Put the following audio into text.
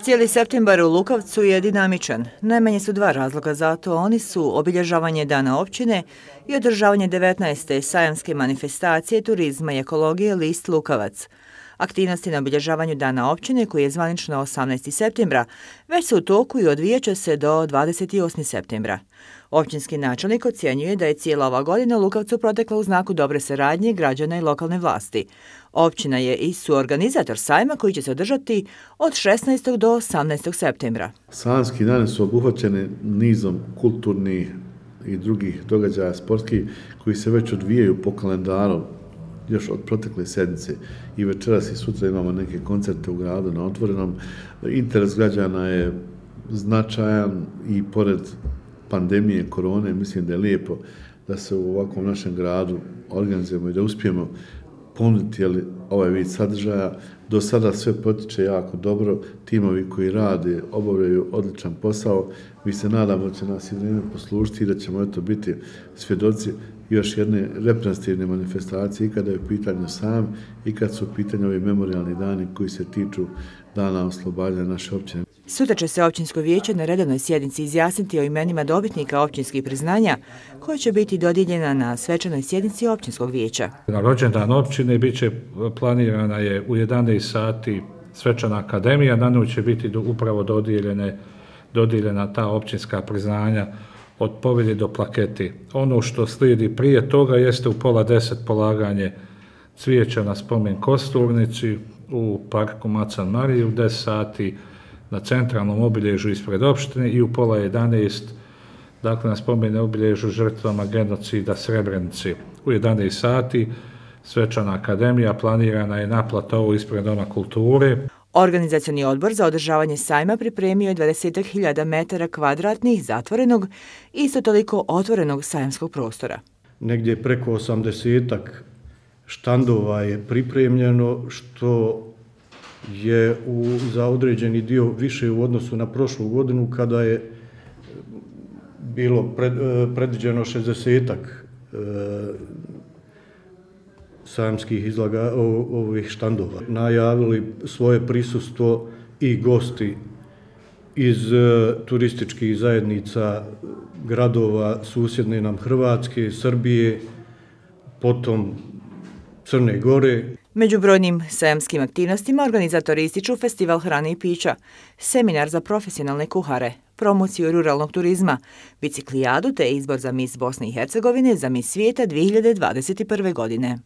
Cijeli septembar u Lukavcu je dinamičan. Najmanje su dva razloga za to. Oni su obilježavanje Dana općine i održavanje 19. sajamske manifestacije turizma i ekologije List Lukavac. Aktivnosti na obilježavanju Dana općine, koji je zvanično 18. septembra, već su u toku i odvijat će se do 28. septembra. Općinski načelnik ocjenjuje da je cijela ova godina u Lukavcu protekla u znaku dobre saradnje građana i lokalne vlasti. Općina je i suorganizator sajma koji će se održati od 16. do 18. septembra. Sajamski dani su obuhvaćeni nizom kulturnih i drugih događaja sportskih koji se već odvijaju po kalendaru još od protekle sedmice i večeras i sutra imamo neke koncerte u gradu na otvorenom. Interes građana je značajan i pored pandemije korone mislim da je lijepo da se u ovakvom našem gradu organizujemo i da uspijemo ponuditi ovaj vid sadržaja. Do sada sve potiče jako dobro, timovi koji rade obavljaju odličan posao. Mi se nadamo da će nas i vrijeme poslužiti i da ćemo biti svjedoci još jedne reprezentativne manifestacije i kada je u pitanju sajam i kad su u pitanju ovi memorijalni dani koji se tiču dana oslobađanja naše općine. Sutra će se općinsko vijeće na redovnoj sjednici izjasniti o imenima dobitnika općinskih priznanja koja će biti dodijeljena na svečanoj sjednici općinskog vijeća. Na rođendan općine planirana je u 11 sati svečana akademija, na nju će biti upravo dodijeljena ta općinska priznanja od povelje do plaketi. Ono što slijedi prije toga jeste u 9:30 polaganje cvijeća na spomen kosturnici u parku Macan Marije, u 10 sati na centralnom obilježju ispred opštine i u 10:30 dakle na spomen obilježju žrtvama genocida Srebrenici. U 11 sati svečana akademija planirana je na platovu ispred Doma kulture. Organizacioni odbor za održavanje sajma pripremio je 20.000 metara kvadratnih zatvorenog i isto toliko otvorenog sajamskog prostora. Negdje preko 80-ak štandova je pripremljeno, što je za određeni dio više u odnosu na prošlu godinu kada je bilo predviđeno 60-ak sajamskih ovih štandova. Najavili svoje prisustvo i gosti iz turističkih zajednica gradova susjedne nam Hrvatske, Srbije, potom Crne Gore. Među brojnim sajamskim aktivnostima organizatori ističu festival hrane i pića, seminar za profesionalne kuhare, promociju ruralnog turizma, biciklijadu te izbor za Miss Bosne i Hercegovine za Miss svijeta 2021. godine.